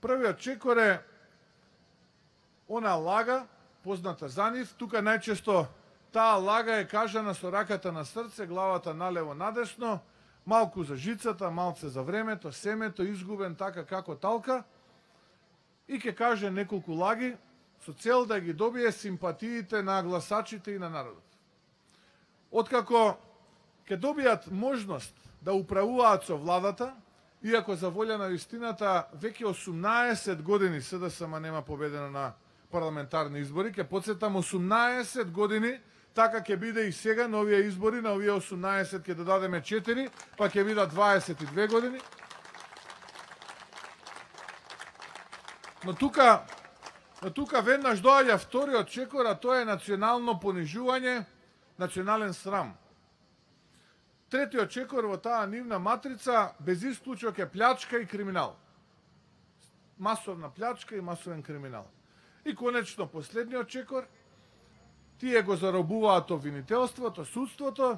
Првиот чекор е она лага, позната за нив. Тука најчесто таа лага е кажана со раката на срце, главата налево надесно, малку за жицата, малце за времето, семето, изгубен така како талка. И ќе каже неколку лаги со цел да ги добие симпатиите на гласачите и на народот. Откако ќе добијат можност да управуваат со владата, иако за волја на вистината веќе 18 години СДСМ нема победено на парламентарни избори, ќе потсетам 18 години, така ќе биде и сега на овие избори, на овие 18 ќе додадеме 4, па ќе бидат 22 години. Но тука веднаш доаѓа вториот чекор, а тоа е национално понижување, национален срам. Третиот чекор во таа нивна матрица без исклучок е плячка и криминал. Масовна плячка и масовен криминал. И конечно последниот чекор, тие го заробуваат обвинителството, судството,